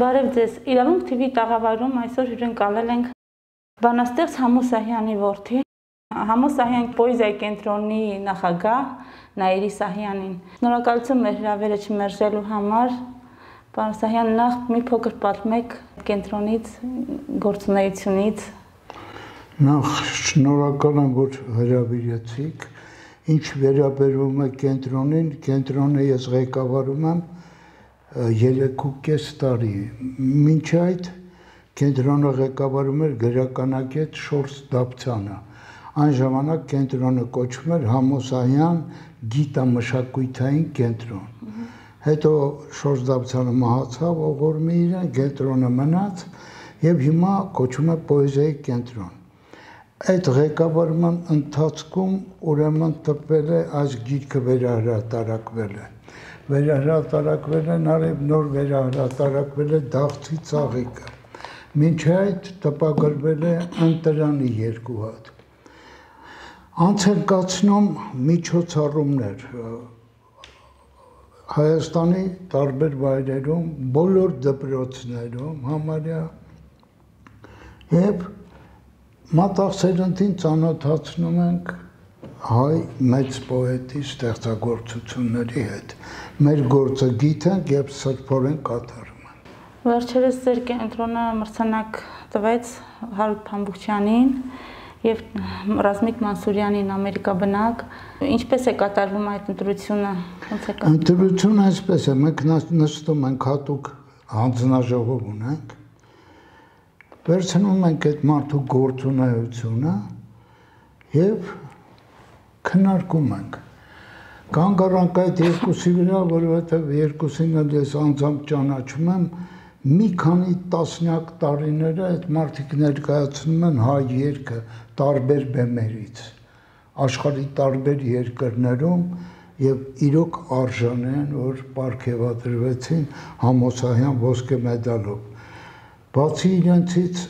Բարև ձեզ, իրավունք TV տաղավարում այսօր հյուրընկալել ենք բանաստեղծ Համո Սահյանի որդի, Համո Սահյան պոեզիայի կենտրոնի նախագահ Նաիրի Սահյանին։ Շնորհակալություն մեր հրավերը չմերժելու համար։ Պարոն Սահյան, նախ մի փոքր պատմեք կենտրոնից, գործունեությունից։ Նախ շնորհակալ եմ, որ հրավիրեցիք։ Ինչ վերաբերում է կենտրոնին, կենտրոնը ես ղեկավարում եմ 3.5 տարի։ Մինչ այդ կենտրոնը ղեկավարում էր գրականագետ Շորս Դավթյանը։ Այն ժամանակ կենտրոնը կոչվում էր Համո Սահյան գիտամշակութային կենտրոն։ Հետո Շորս Դավթյանը մահացավ, ողորմի իրեն, կենտրոնը մնաց եւ հիմա կոչվում է պոեզիայի կենտրոն։ Այդ ղեկավարման ընթացքում ուրեմն տպվել է այս գիրքը վերահրատարակվել է։ Վերահրատարակվել է նաև նոր վերահրատարակվել է Դաղթի ծաղիկը։ Մինչ այդ տպագրվել է Ընտրանի 2 հատ։ Անց են կացնում միջոցառումներ Հայաստանի տարբեր վայրերում, բոլոր դպրոցներում համարյա եւ մատաղ-սերնդին ծանոթացնում ենք հայ մեծ պոետի ստեղծագործությունների հետ։ Մեր գործը գիտենք եւ սրբորեն կատարում ենք։ Վերջերս ձեր կենտրոնը մրցանակ տվեց Հարութ Փամբուկչյանին եւ Ռազմիկ Մանսուրյանին ամերիկաբնակ։ Ինչպես է կատարվում այդ ընտրությունը։ Ոնց է կատարվում։ Ընտրությունը այսպես է, մենք նստում ենք հատուկ հանձնաժողով ունենք։ Վերցնում ենք այդ մարդու գործունեությունը եւ քննարկում ենք։ Կանգ առանք այդ երկուսի վրա, որովհետեւ երկուսին էլ ես անձամբ ճանաչում եմ, մի քանի տասնյակ տարիներ այդ մարդիկ ներկայացնում են հայ երգը տարբեր բեմերից, աշխարհի տարբեր երկրներում եւ իրոք արժան են, որ պարգևատրվեցին Համո Սահյան ոսկե մեդալով։ Բացի իրենցից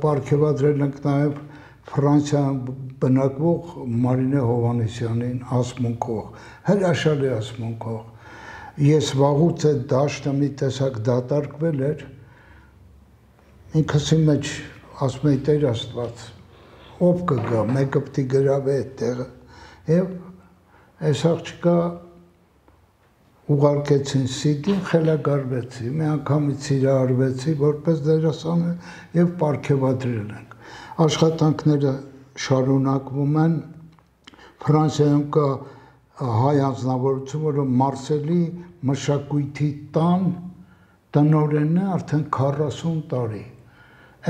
պարգևատրել ենք նաև Ֆրանսիայում բնակվող Մարինե Հովհաննիսյանին, ասմունքող, հրաշալի ասմունքող։ Ես վաղուց այդ դաշտը մի տեսակ դատարկվել էր, ինքս իմ մեջ ասում էի Տեր Աստված, ով կգա, մեկը պիտի գրավի այդ տեղը, եւ այս աղջիկա ուղարկեցին Սիդին, խելագարվեցի, մի անգամից սիրահարվեցի, որպես դերասան եւ պարգևատրել ենք։ Աշխատանքները շարունակվում են։ Ֆրանսիայում կա հայ անձնավորություն, որը Մարսելի մշակույթի տան տնօրենն է արդեն 40 տարի։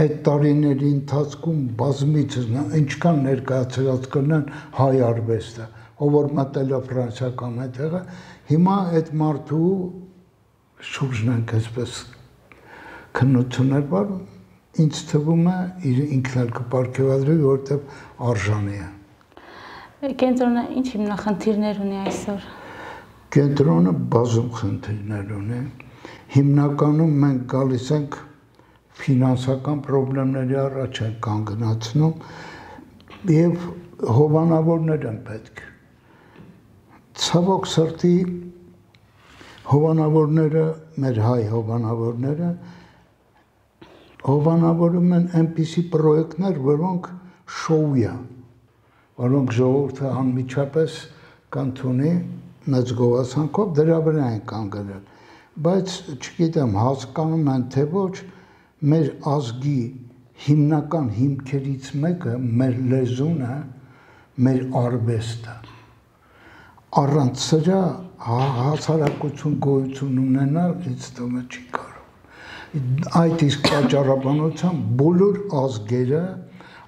Այդ տարիների ընթացքում բազմիցս ինչքան ներկայացրած կնեն հայ արվեստը, ով որ մտել է Ֆրանսիա կամ այդտեղը, հիմա այդ մարդու շուրջն ենք այսպես քննություններ բար, ինձ թվում է ինքն էլ կպարգևատրի, որովհետև արժանի է։ Կենտրոնը ինչ հիմնախնդիրներ ունի այսօր։ Կենտրոնը բազում խնդիրներ ունի։ Հիմնականում մենք գալիս ենք ֆինանսական խնդիրների առաջ ենք կանգնացնում եւ հովանավորներ են պետք։ Ցավոք սրտի հովանավորները, մեր հայ հովանավորները հովանավորում են այնպիսի պրոյեկտներ, որոնք շոու են, որոնք ժողովուրդը անմիջապես կընդունի մեծ գովասանքով, դրա վրա են կանգնել։ Բայց չգիտեմ, հասկանում են թե ոչ, մեր ազգի հիմնական հիմքերից մեկը մեր լեզուն է, մեր արվեստը։ Առանց սրա հասարակություն գոյություն ունենալ ինձ թվում է չի կարող։ Այդ իսկ պատճառաբանությամբ բոլոր ազգերը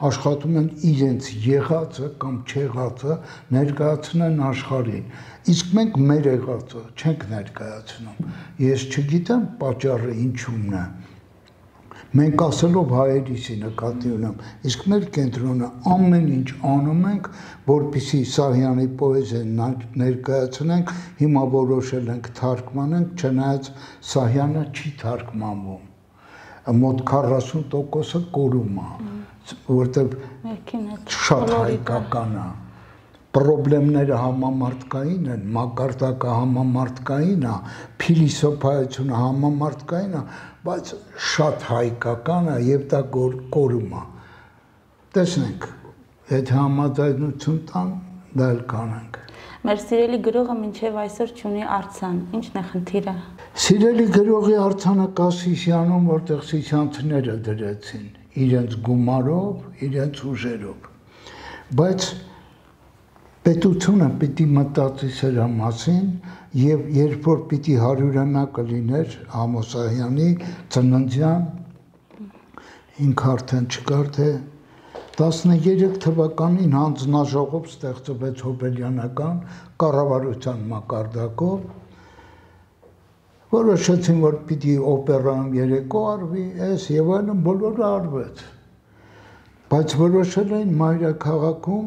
աշխատում են իրենց եղածը կամ չեղածը ներկայացնեն աշխարհին։ Իսկ մենք մեր եղածը չենք ներկայացնում։ Ես չգիտեմ պատճառը ինչումն է։ Մենք ասելով հայերիսի նկատի ունեմ, իսկ մեր կենտրոնը ամեն ինչ անում ենք, որպեսզի Սահյանի պոեզիան ներկայացնենք, հիմա որոշել ենք թարգմանենք, չնայած Սահյանը չի թարգմանվում։ Մոտ 40%-ը կորում է, որովհետև շատ հայկական է։ Պրոբլեմները համամարտկային են, մակարդակը համամարտկային է, փիլիսոփայությունը համամարտկային է, բայց շատ հայկական է եւ դա կորում է։ Տեսնենք, եթե համաձայնություն տան, դա էլ կանենք։ Մեր սիրելի գրողը մինչև այսօր չունի արձան, ի՞նչն է խնդիրը։ Սիրելի գրողի արձանը կա Սիսիանում, որտեղ սիսիանցիները դրեցին իրենց գումարով, իրենց ուժերով։ Բայց պետությունը պիտի մտածի սրա մասին եւ երբ որ պիտի 100-ամյակը լիներ Ամոսահյանի ծննդյան, ինքը արդեն չկար, թե 13 թվականին հանձնաժողով ստեղծվեց հոբելյանական կառավարության մակարդակով, որոշեցին, որ պիտի օպերայում երեկո արվի, այս եւ այլն բոլորը արվեց։ Բայց որոշել էին մայրաքաղաքում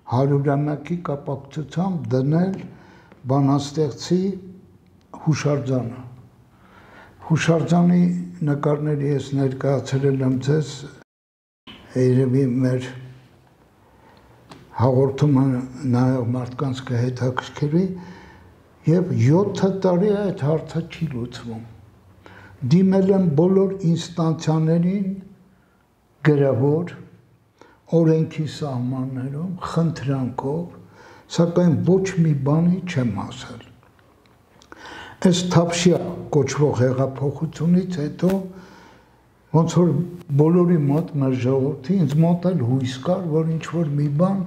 100-ամյակի կապակցությամբ դնել բանաստեղծի հուշարձանը։ Հուշարձանի նկարների ես ներկայացրել եմ ձեզ, երևի մեր հաղորդումը նայող մարդկանց կհետաքրքրի, եւ 7 տարի այդ հարցը չի լուծվում։ Դիմել եմ բոլոր ինստանցիաներին գրավոր, օրենքի սահմաններում, խնդրանքով, սակայն ոչ մի բանի չեմ հասել։ Այս Թավշյա կոչվող հեղափոխությունից հետո ոնց որ բոլորի մոտ մեր ժողովրդի ինձ մոտ էլ հույս կար, որ ինչ-որ մի բան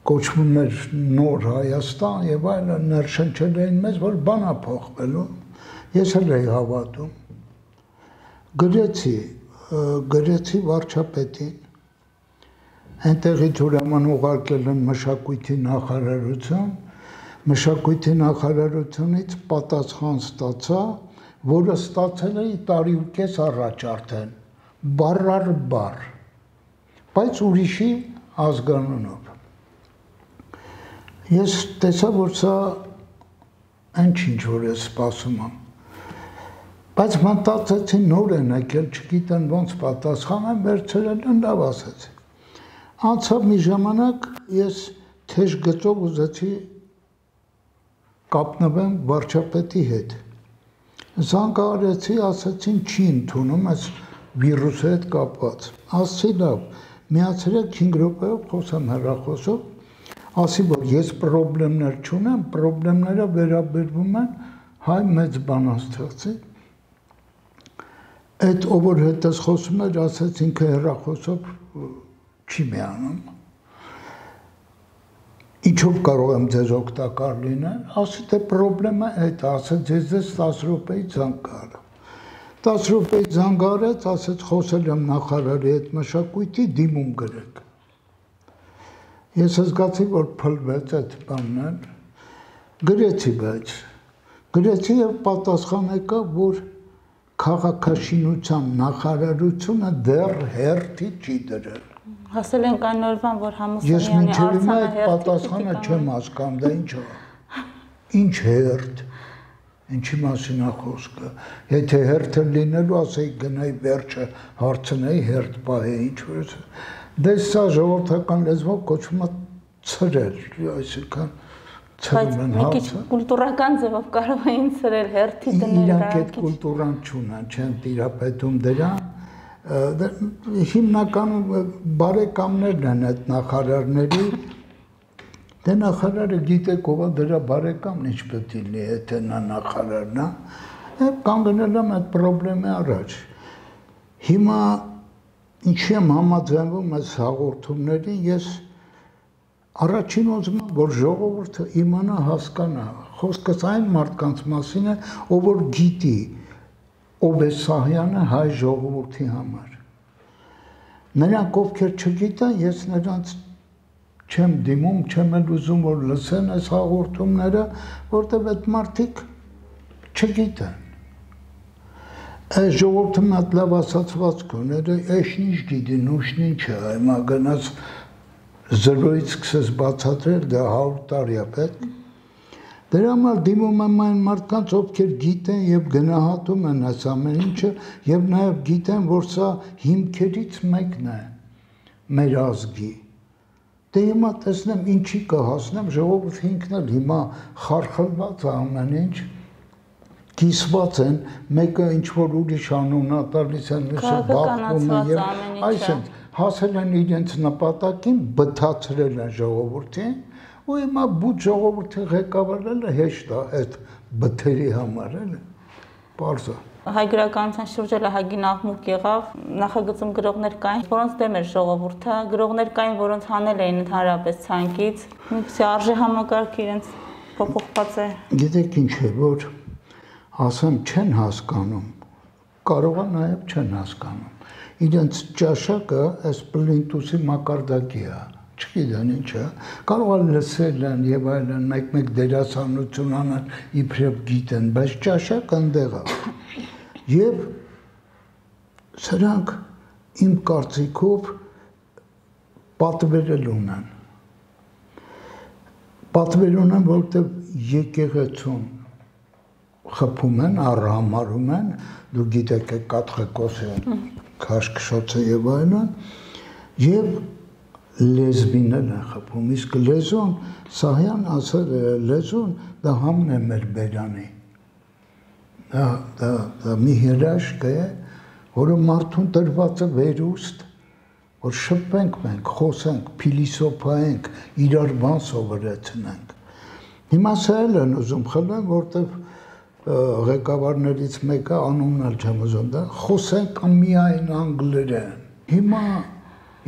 կոչվում էր նոր Հայաստան եւ այլն ներշնչել էին մեզ, որ բան է փոխվելու։ Ես էլ էի հավատում։ Գրեցի վարչապետին, այնտեղից ուրեմն ուղարկել են մշակույթի նախարարություն, մշակույթի նախարարությունից պատասխան ստացա, որը ստացել էի տարի ու կես առաջ արդեն, բառ առ բառ, բայց ուրիշի ազգանունով։ Ես տեսա, որ սա ինչ որ ես սպասում եմ, բայց մտածեցի նոր են եկել, չգիտեն ոնց պատասխանեմ, վերցրել են լավ ասեցի։ Անցավ մի ժամանակ ես թեժ գծով ուզեցի կապնվեմ վարչապետի հետ։ Զանգահարեցի, ասացին չի ընդունում այս վիրուսի հետ կապված։ Ասացի լավ, միացրեք 5 րոպեով խոսեմ հեռախոսով, ասի որ ես պրոբլեմներ չունեմ, պրոբլեմները վերաբերվում են հայ մեծ բանաստեղծի։ Այդ ով որ հետս խոսում էր, ասաց ինքը հեռախոսով չի միանում։ Ինչով կարող եմ ձեզ օգտակար լինել, ասի թե պրոբլեմը այդ, ասաց ես ձեզ 10 րոպեից զանգահարեմ։ 10 րոպեից զանգահարեց, ասաց խոսել եմ նախարարի հետ մշակույթի, դիմում գրեք։ Ես զգացի, որ փլվեց այդ բանն, գրեցի, բայց գրեցի եւ պատասխան եկա, որ քաղաքաշինության նախարարությունը դեռ հերթի չի դրել։ Հասել ենք այն օրվան, որ Համոսյանի արձանը հերթի պատասխանը չեմ հասկանում, դա ինչ է։ Ինչ հերթ։ Ինչի մասին է խոսքը։ Եթե հերթը լինելու, ասեի գնայի վերջը հարցնեի հերթ պահե, ինչ որ դե սա ժողովրդական լեզվով կոչվում է ցրել, այսինքն ցրում են հարցը։ Մի քիչ կուլտուրական ձևով կարող էին ցրել հերթի դնել դա։ Իրանք այդ կուլտուրան չունեն, չեն տիրապետում դրան։ Հիմնականում բարեկամներն են այդ նախարարների, դե նախարարը գիտեք ով է դրա բարեկամն ինչ պետք է լինի, եթե նա նախարարն է, կանգնել եմ այդ պրոբլեմի առաջ։ Հիմա ինչի եմ համաձայնվում այս հաղորդումներին, ես առաջին ուզում եմ, որ ժողովուրդը իմանա, հասկանա, խոսքս այն մարդկանց մասին է, ով որ գիտի, ով է Սահյանը հայ ժողովրդի համար։ Նրանք ովքեր չգիտեն, ես նրանց չեմ դիմում, չեմ էլ ուզում, որ լսեն այս հաղորդումները, որտեղ այդ մարդիկ չգիտեն։ Այս ժողովրդը մատ լավ ասացվածք ուներ, էշնիչ գիտի, նուշնին չէ, հիմա գնաց 0-ից սկսես բացատրել, դա 100 տարի է պետք։ Դրա համար դիմում եմ այն մարդկանց, ովքեր գիտեն եւ գնահատում են այս ամեն ինչը եւ նաեւ գիտեն, որ սա հիմքերից մեկն է մեր ազգի։ Դե հիմա տեսնեմ ինչի կհասնեմ, ժողովուրդը ինքն էլ հիմա խարխլված է ամեն ինչ։ կիսված են, մեկը ինչ-որ ուրիշ անուն է տալիս են, մյուսը բախվում է և այսինքն հասել են իրենց նպատակին, բթացրել են ժողովրդին, ու հիմա բուտ ժողովրդի ղեկավարելը հեշտ է այդ բթերի համար, էլի, պարզ է։ Հայ գրականության շուրջ էլ ահագին աղմուկ եղավ, նախագծում գրողներ կային, որոնց դեմ էր ժողովուրդը, գրողներ կային, որոնց հանել էին ընդհանրապես ցանկից, միգուցե արժե համակարգը իրենց փոփոխված է։ Գիտեք ինչ է, որ ասեմ չեն հասկանում, կարող է նաև չեն հասկանում։ Իրենց ճաշակը այս պլինտուսի մակարդակի է, չգիտեն ինչ է, կարող է լսել են եւ այլն, մեկ-մեկ դերասանություն անեն, իբրև գիտեն, բայց ճաշակը ընդեղ է։ Եվ սրանք իմ կարծիքով պատվերել ունեն, որովհետև եկեղեցուն խփում են, առհամարում են, դու գիտեք կաթխիկոսը, քաշքշոցը եւ այլն, եւ լեզվին են խփում, իսկ լեզուն, Սահյան ասել է, լեզուն դա համն է մեր բերանի, դա մի հրաշք է, որը մարդուն տրված է վերուստ, որ շփվենք մենք, խոսենք, փիլիսոփայենք, իրար բան սովորեցնենք։ Հիմա սա էլ են ուզում խլեն, որտեվ ղեկավարներից մեկը անունն էլ չեմ ուզում դա, խոսենք միայն անգլերեն։ Հիմա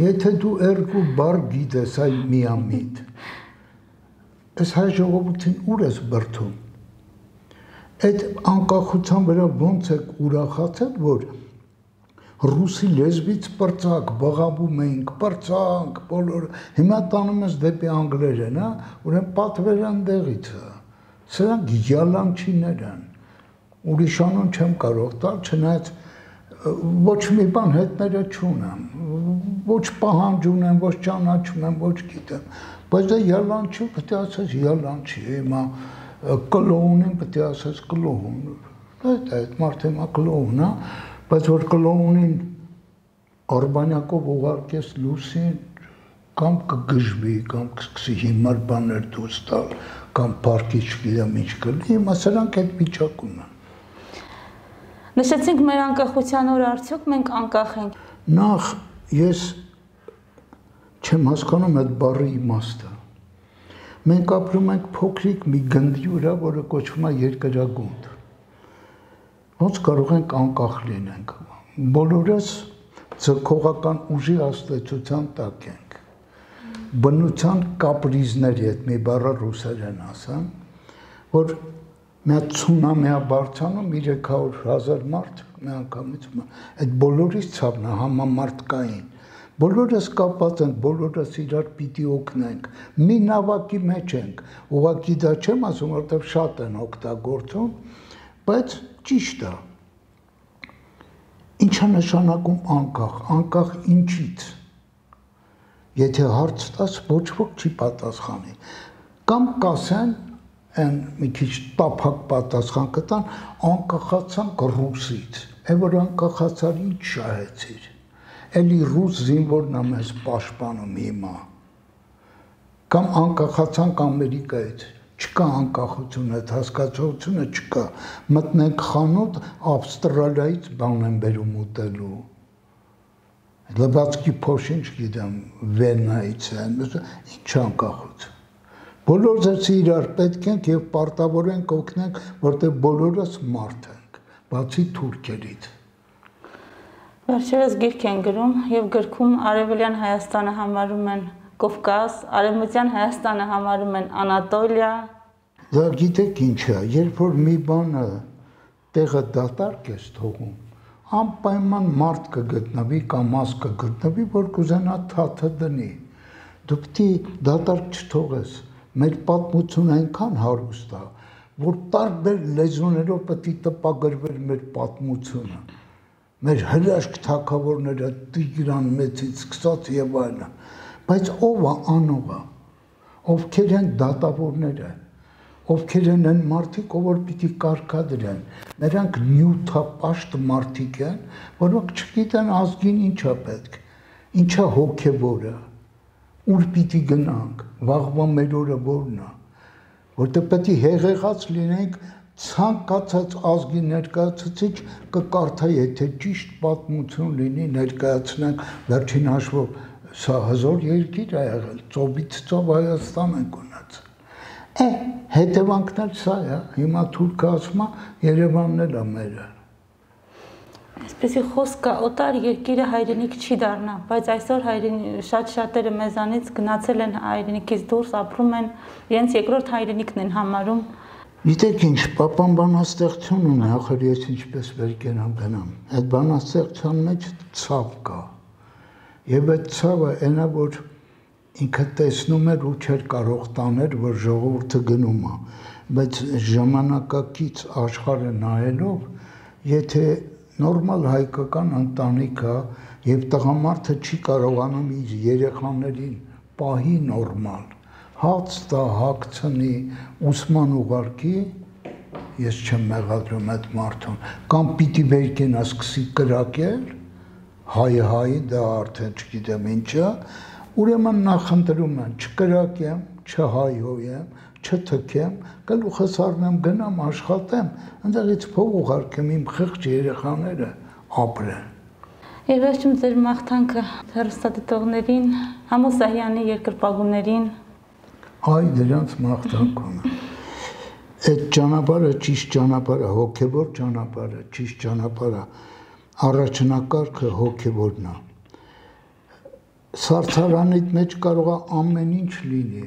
եթե դու երկու բառ գիտես այ միամիտ, այս հայ ժողովրդին ուր ես բրդում։ Այդ անկախության վրա ոնց եք ուրախացել, որ ռուսի լեզվից պրծակ, բղավում էինք, պրծանք, բոլորը, հիմա տանում ես դեպի անգլերեն, ուրեմն պատվերը ընդեղից է, սրանք յալանչիներ են, ուրիշ անուն չեմ կարող տալ, չնայած ոչ մի բան հետները չունեմ, ոչ պահանջ ունեմ, ոչ ճանաչում եմ, ոչ գիտեմ, բայց դա յալանչի, պետք է ասես յալանչի, հիմա կլոունին պետք է ասես կլոուն, այդ մարդը հիմա կլոուն, բայց որ կլոունին Արբանյակով ուղարկես լուսին, կամ կգժվի, կամ կսկսի հիմար բաներ դուրս տալ, կամ պարկի չգիտեմ ինչ կլի, հիմա սրանք այդ վիճակում են։ Նշեցինք մեր անկախության օրը արդյոք մենք անկախ ենք։ Նախ ես չեմ հասկանում այդ բառի իմաստը։ Մենք ապրում ենք փոքրիկ մի գնդի վրա, որը կոչվում է երկրագունդ։ Ոնց կարող ենք անկախ լինենք։ Բոլորս ձգողական ուժի աստեցության տակ ենք։ Բնության կապրիզների հետ մի բառը ռուսերեն ասեմ, որ մի հատ ցունամի է բարձրանում 300,000 մարդ մի անգամից, այդ բոլորից ցավն է համամարտկային։ Բոլորս կապված ենք, բոլորս իրար պիտի օգնենք, մի նավակի մեջ ենք, ուղղակի դա չեմ ասում, որովհետև շատ են օգտագործում, բայց ճիշտ է։ Ինչ է նշանակում անկախ, անկախ ինչից։ Եթե հարց տաս, ոչ ոք չի պատասխանի։ Կամ կասեն, են մի քիչ տափակ պատասխան կտան, անկախացանք ռուսից, որ անկախացար ինչ շահեցիր, էլի ռուս զինվորն է մեզ պաշտպանում հիմա, կամ անկախացանք Ամերիկայից, չկա անկախություն, այդ հասկացությունը չկա, մտնենք խանութ, Ավստրալիայից բան են բերում ուտելու, լվացքի փոշին չգիտեմ, Վենայից են, ինչ անկախություն։ Բոլորս իրար պետք ենք և պարտավոր ենք օգնենք, որտեղ բոլորս մարդ ենք, բացի թուրքերից։ Վերջերս գիրք են գրում և գրքում Արևելյան Հայաստանը համարում են Կովկաս, Արևմտյան Հայաստանը համարում են Անատոլիա։ Դա գիտեք ինչ է, երբ որ մի բանը տեղը դատարկ ես թողում, անպայման մարդ կգտնվի կամ մաս կգտնվի, որ կուզենա թաթը դնի։ Դու պիտի դատարկ չթողես, մեր պատմությունը այնքան հարուստ է, որ տարբեր լեզուներով պետք է տպագրվեր մեր պատմությունը, մեր հրաշք թագավորները Տիգրան մեծից սկսած եւ այլն, բայց ով է անողը, ովքեր են դատավորները, ովքեր են այն մարդիկ, որ պիտի կարգադրեն, նրանք նյութապաշտ մարդիկ են, որոնք չգիտեն ազգին ինչա պետք, ինչա հոգևորը, ուր պիտի գնանք, վաղվա մեր օրը որն է, որտեղ պետք է հեղեղած լինենք ցանկացած ազգի ներկայացուցիչ կկարդա, եթե ճիշտ պատմություն լինի, ներկայացնենք վերջին հաշվով սա հզոր երկիր է եղել, ծովից ծով Հայաստան ենք ունեցել։ Հետևանքն էլ սա է, հիմա թուրքը ասում է Երևանն էլ է մերը։ Այսպեսի խոսքը օտար երկիրը հայրենիք չի դառնա, բայց այսօր շատ-շատերը մեզանից գնացել են հայրենիքից դուրս, ապրում են, իրենց երկրորդ հայրենիքն են համարում։ Գիտեք ինչ, պապան բանաստեղծություն ունի, ախր ես ինչպես վեր կենամ գնամ։ Այդ բանաստեղծության մեջ ցավ կա։ Եվ այդ ցավը այնա, որ ինքը տեսնում էր ու չէր կարող տաներ, որ ժողովուրդը գնում է, բայց ժամանակակից աշխարհը նայելով, եթե նորմալ հայկական ընտանիք է եւ տղամարդը չի կարողանում իր երեխաներին պահի նորմալ, հաց տա, հագցնի, ուսման ուղարկի, ես չեմ մեղադրում այդ մարդուն, կամ պիտի վերկենա սկսի կրակել, հայ, դա արդեն չգիտեմ ինչա, ուրեմն նախընտրում են չկրակեմ, չհայհոյեմ, չթքեմ, գլուխս առնեմ, գնամ աշխատեմ, այնտեղից փող ուղարկեմ իմ խեղճ երեխաները ապրեն։ Եվ վերջում ձեր մաղթանքը հեռուստադիտողներին, Համո Սահյանի երկրպագուներին։ Այ դրանց մաղթանք ունեմ։ Այդ ճանապարհը ճիշտ ճանապարհ է, հոգևոր ճանապարհ է, ճիշտ ճանապարհ է, առաջնակարգը հոգևորն է։ Սարսարանիդ մեջ կարող է ամեն ինչ լինի,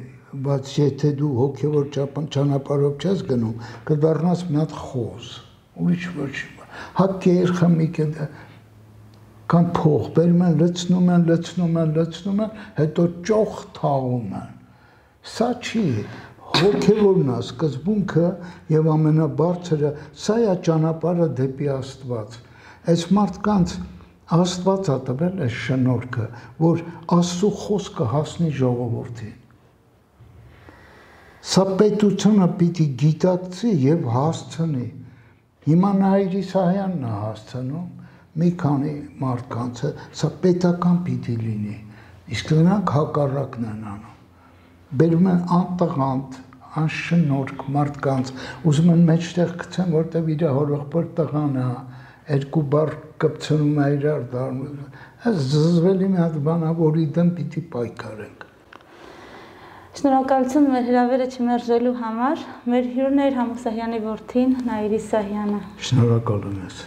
բայց եթե դու հոգևոր ճանապարհով չես գնում, կդառնաս մի հատ խոզ, ուրիշ ոչինչ։ Հա երխամիկ է կան փող, բերում են, լցնում են, հետո ճոխ թաղում են։ Սա չի, հոգևորն է սկզբունքը եւ ամենաբարձրը, սա է ճանապարհը դեպի Աստված։ Այս մարդկանց Աստված է տվել այս շնորհքը, որ Աստծո խոսքը հասնի ժողովրդին։ Սա պետությունը պիտի գիտակցի եւ հասցնի։ Հիմա Նայիրի Սահյանն է հասցնում, մի քանի մարդկանց, սա պետական պիտի լինի, իսկ նրանք հակառակն են անում։ Բերում են անտղանդ, անշնորհք մարդկանց, ուզում են մեջտեղ գցեն, որտեղ իր հորեղբոր տղան է, երկու բառ կպցնում է իրար դառնում։ Այս զզվելի մի հատ բան է, որի դեմ պիտի պայքարենք։ Շնորհակալություն մեր հրավերը չմերժելու համար։ Մեր հյուրն էր Համո Սահյանի որդին Նայիրի Սահյանը։ Շնորհակալ եմ ես։